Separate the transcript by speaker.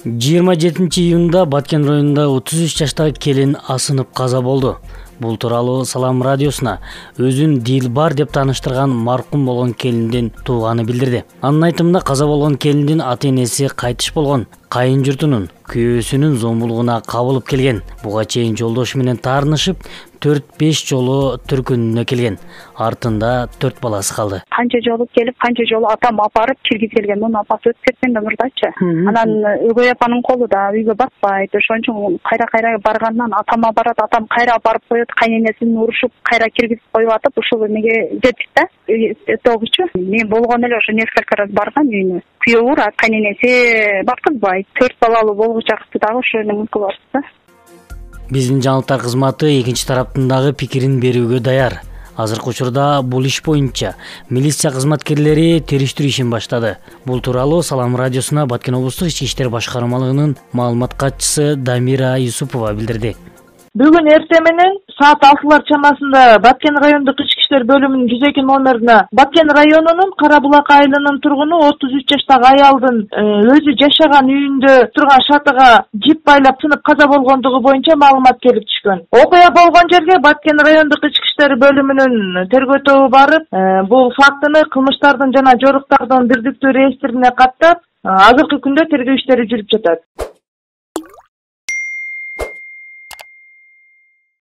Speaker 1: 27-июнда Баткен районунда 33 жаштагы келин асынып каза болду. Бул тууралуу Салам радиосуна өзүн Дилбар деп тааныштырган маркум болгон келиндин тууганы билдирди. Анын айтымында каза болгон келиндин ата-энеси кайтыш болгон, кайын журтунун күйөөсүнүн зомбулугуна кабылып келген. Буга чейин жолдошу менен таарынышып 4-5 жолу түркүнүнө келген. Артында 4 баласы калды.
Speaker 2: Канча жолу келип, канча жолу атам апарып киргиз келген. Мунун апасы өтүп кеткен да мурдачы. Анан өгөй апанын колу да үйгө баспайт. Ошон үчүн кайра баргандан атама барат, атам кайра апарып коет, кайненесин урушуп, кайра киргизип коюп атып, ушул эмеге жетtik да. Тогучу. Мен болгон эле ошо несколько раз барган үйүнө. Күйөө урат, кайненеси бакытбайт. 4 балалуу болгучакты дагы ошо эне мүмкүн бар да.
Speaker 1: Биздин жаңылыктар кызматы экинчи тараптын дагы пикирин берүүгө даяр. Азыркы учурда бул иш боюнча милиция кызматкерлери териштирүү ишин баштады. Бул тууралуу Салам радиосуна Баткен облустук ички иштер башкармалыгынын маалымат катчысы Дамира Юсупова билдирди.
Speaker 3: Бүгүн эртең менен саат 6 чамасында Баткен райондук ички иштер бөлүмүнүн 102 номерине Баткен районунун Кара Булак айылынын тургуну 33 жаштагы аялдын өзү жашаган үйүндө турган шатыга жип байлап сынып каза болгондугу боюнча маалымат келип түшкөн. Окуя болгон жерге Баткен райондук ички иштер бөлүмүнүн тергөө тобу барып, бул фактыны кылмыштардын жана жоруктардын бирдиктүү реестрине каттап, азыркы күндө тергөө иштери жүрүп жатат.